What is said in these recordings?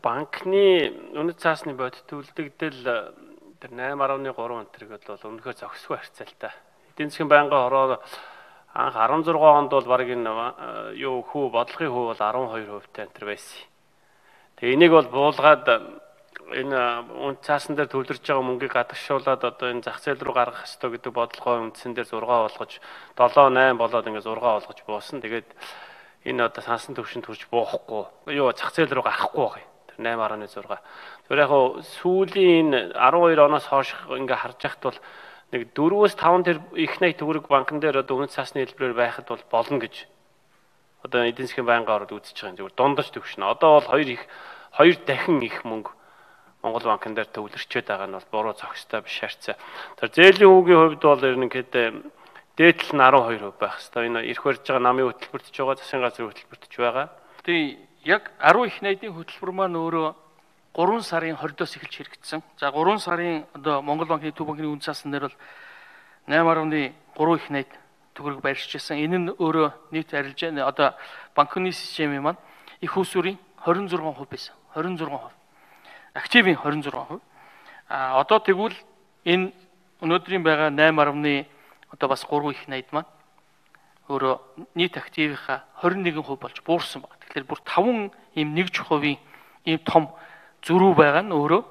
банкны үнэт цаасны бодит үлдэгдэл тэр 8.3 өнтрийг бол өнөхөр зохисгүй харьцaalтай. Эдийн засгийн байнгын хороо анх 16 онд бол баг энэ юу хүү бодлогын хүү бол 12% энэ байсан. Тэгээ энийг бол буулгаад энэ үнэт цаасан дээр төвлөрж байгаа мөнгийг гадагшуулаад одоо энэ зах зээл рүү гаргах ёстой гэдэг бодлогоо үндсэн дээр 6 болгож 7-8 болоод ингээд 6 болгож буусан. Тэгээд энэ одоо сансан төвшөнд хүрч буухгүй. Юу зах зээл рүү гарахгүй байх. 8.6. Тэр яг сүүлийн 12 оноос хойш ингээ харж яхад бол нэг 4-5 тэр их найт төгрөг банкн дээр одоо үнэт цаасны хэлбэрээр байхад бол болно гэж одоо эдийн засгийн байнгын ороод үзэж байгаа юм. Зүгээр дундаж төвшнө. Одоо бол хоёр дахин их мөнгө Монгол банкн дээр төвлөрчөөд байгаа нь бол буруу зохистой биш харьцаа. Тэр зээлийн хүүгийн хувьд бол ерөнхийд дээдл нь 12% байх хэвээр. Энэ ирэх барьж байгаа намын хөтөлбөртөж байгаа, засгийн газрын хөтөлбөртөж байгаа. Тэгээ яг 10 их найдын хөтөлбөр маань өөрөө 3 сарын 20-оос эхэлж хэрэгжсэн. За 3 сарын одоо Монгол банкны төв банкны үнэт цаасан дээр бол 8.3 их найд төгрөг байршиж байсан. Энэ нь өөрөө нийт арилжаа одоо банкны системийн маань их усүрийн 26% байсан. 26%. Активын 26%. Одоо тэгвэл энэ өнөөдрийн байгаа 8. Одоо бас 3 их найд маань өөрөө нийт активынхаа 21% болж буурсан байна. Тэгэхээр бүр 5 ийм 1% ийм том зөрүү байгаа нь өөрөө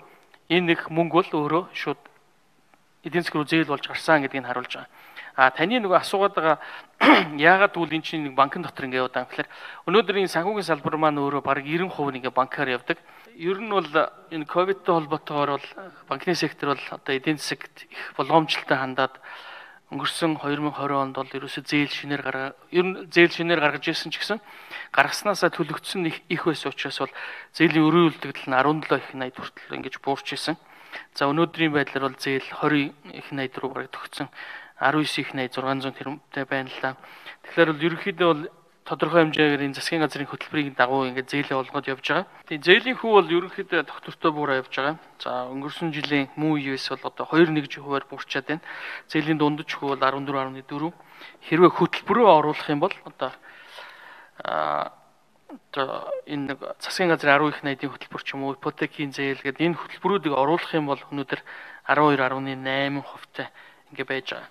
энэ нэг мөнгө бол өөрөө шууд эдийн засаг руу зээл болж гарсан гэдгийг харуулж байгаа. Таны нөгөө асуугаад байгаа яагаад гэвэл энэ чинь нэг банкн дотор ингэ яваад байгаа юм. Тэгэхээр өнөөдрийн санхүүгийн салбар маань өөрөө бараг 90% ингээ банкаар явдаг. Ер нь бол энэ ковидтэй холбоотойгоор бол банкны сектор бол одоо эдийн засагт их боломжтой хандаад өнгөрсөн 2020 онд бол ерөөсөө зээл шинээр гаргаж ирсэн ч гэсэн гаргаснасаа төлөгдсөн их байсан учраас бол зээлийн өрийн үлдэгдэл нь 17 их найд хүртэл ингэж буурч ирсэн. За өнөөдрийн байдлаар бол зээл 20 их найд руу бараг төгссөн. 19 их найд 600 тэрбумтай байна л да. Тэгэхээр бол ерөнхийдөө бол тодорхой хэмжээгээр энэ засгийн газрын хөтөлбөрийн дагуу ингээд зээлээ олгоод явж байгаа. Тэгээ зээлийн хүү бол ерөнхийдөө доктортой буураа явж байгаа. За өнгөрсөн жилийн муу үеэс бол одоо 2.1%-аар буурчаад байна. Зээлийн дундаж хүү бол 14.4. Хэрвээ хөтөлбөрөө оруулах юм бол одоо энэ нэг засгийн газрын 10 их найдын хөтөлбөр ч юм уу ипотекийн зээл гэдэг энэ хөтөлбөрүүдийг оруулах юм бол өнөөдөр 12.8%-тай ингээд байж байгаа.